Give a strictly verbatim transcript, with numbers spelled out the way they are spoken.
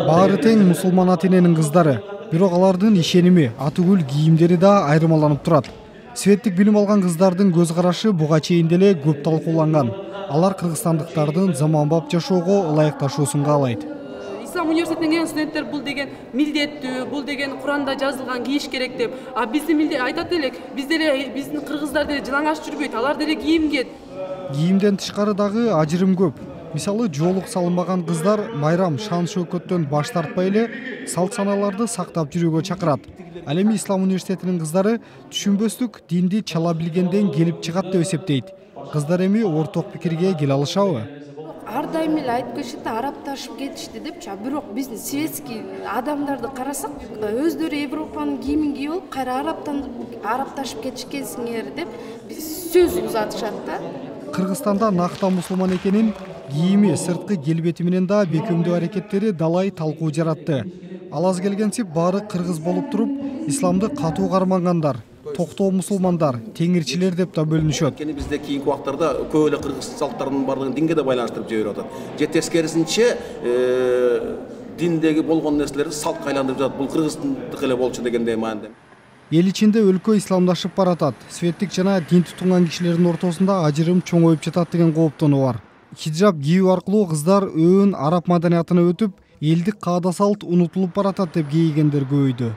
Баары тең мусулман ата-эненин кыздары, бирок алардын ишеними, атүгүл кийимдери да айырмаланып турат. Светтик билим алган кыздардын көз карашы буга чейин деле көп талкууланган. Алар кыргызстандыктардын заманбап жашоого ылайыкташуусун каалайт. Ислам университетинен келген студенттер бул деген милдеттүү, бул деген Куранда жазылган кийиш керек деп. А биздин милдет айтат элек, биз деле биздин кыргыздар деле жылаңач жүрбөйт, алар деле кийимге. Кийимден тышкары дагы ажырым көп. Мисалы, жоолук салынбаган кыздар майрам шан шөкөттөн баш тартпай эле салт саналарды сактап жүрүүгө чакырат. Ал эми Ислам университетинин кыздары түшүнбөстүк динди чала билгенден келип чыгат деп эсептейт. Кыздар эми орток пикирге келе алышабы? Ар дайым эле айтып келишет да, арапташып кетишти депчи. Бирок биздин светский адамдарды карасак, өздөрү Европанын кийимин кийип алып, кайра араптан арапташып кетишкенсиңер деп сөз узатышат да. Кыргызстанда накта мусулман экенин, кийими, сырткы келбети менен да бекемдөө аракеттери далай талкуу жаратты. Ал аз келгенсип баары кыргыз болуп туруп, исламды катуу кармангандар, токтоо мусулмандар, теңирчилер деп да бөлүнүшөт. Бизде кийинки убактарда көп эле кыргыз салттарынын бардыгын динге да байланыштырып жиберип атат. Же тескерисинче диндеги болгон нерселерди салтка айландырып жатат. Бул кыргыздыкы эле болчу дегендей маанидә. Эл ичинде өлкө исламдашып баратат. Светтик жана дин тутунган кишилердин ортосунда ажырым чоңоюп жатат деген кооптонуу бар. Хиджаб кийүү аркылуу кыздар өөн араб маданиятына өтүп, элдик каада салт унутулуп баратат деп кейигендер көбөйдү.